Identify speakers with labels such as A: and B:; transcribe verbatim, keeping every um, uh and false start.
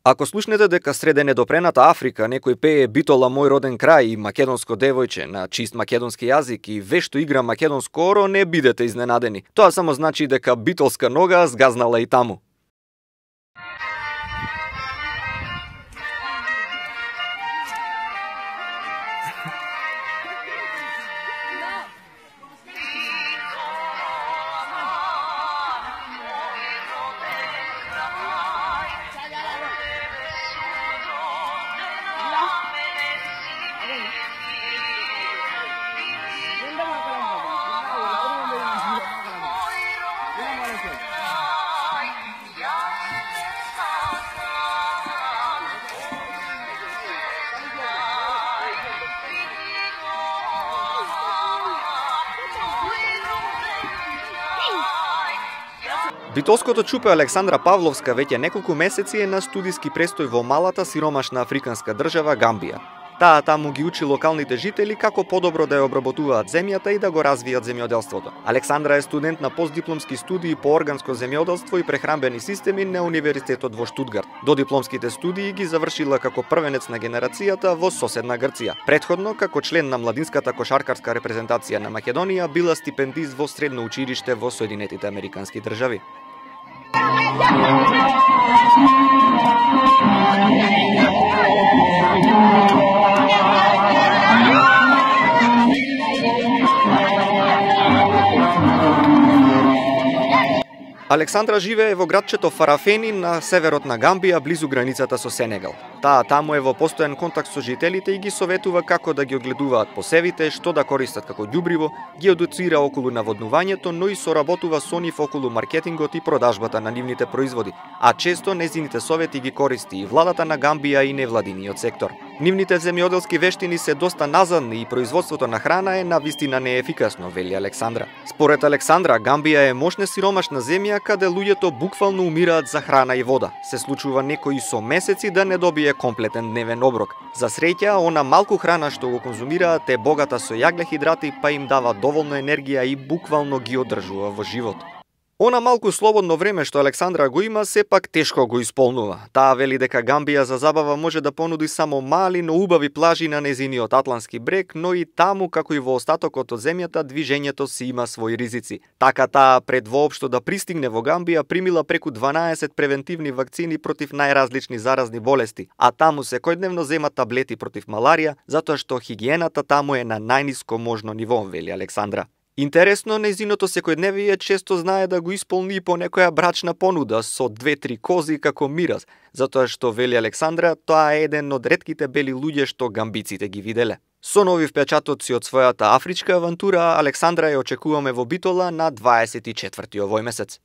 A: Ако слушнете дека среде недопрената Африка некој пее Битола мој роден крај и македонско девојче на чист македонски јазик и вешто игра македонско оро, не бидете изненадени. Тоа само значи дека битолска нога згазнала и таму. Битолското чупе Александра Павловска веќе неколку месеци е на студиски престој во малата сиромашна африканска држава Гамбија. Таа таму ги учи локалните жители како подобро да ја обработуваат земјата и да го развијат земјоделството. Александра е студент на постдипломски студии по органско земјоделство и прехранбени системи на Универзитетот во Штутгарт. Додипломските студии ги завршила како првенец на генерацијата во соседна Грција. Претходно, како член на младинската кошаркарска репрезентација на Македонија, била стипендист во средно училиште во Соединетите Американски држави. Александра живее во градчето Фарафени на северот на Гамбија, близу границата со Сенегал. Таа таму е во постојан контакт со жителите и ги советува како да ги одгледуваат посевите, што да користат како ѓубриво, ги едуцира околу наводнувањето, но и соработува со нив околу маркетингот и продажбата на нивните производи, а често незините совети ги користи и владата на Гамбија и невладиниот сектор. Нивните земјоделски вештини се доста назадни и производството на храна е навистина неефикасно, вели Александра. Според Александра, Гамбија е мощна сиромашна земја каде луѓето буквално умираат за храна и вода. Се случува некој со месеци да не добие комплетен дневен оброк. За среќа, она малку храна што го конзумираат е богата со јаглехидрати, па им дава доволно енергија и буквално ги одржува во живот. Она малку слободно време што Александра го има, сепак тешко го исполнува. Таа вели дека Гамбија за забава може да понуди само мали, но убави плажи на незиниот атлантски брег, но и таму, како и во остатокот од земјата, движењето си има своји ризици. Така таа пред воопшто да пристигне во Гамбија примила преку дванаесет превентивни вакцини против најразлични заразни болести, а таму секојдневно зема таблети против маларија, затоа што хигиената таму е на најниско можно ниво, вели Александра. Интересно, незиното секојдневие често знае да го исполни по некоја брачна понуда со две-три кози како мираз, затоа што, вели Александра, тоа е еден од ретките бели луѓе што гамбиците ги виделе. Со нови впечатоци од својата афричка авантура, Александра ја очекуваме во Битола на дваесет и четврти овој месец.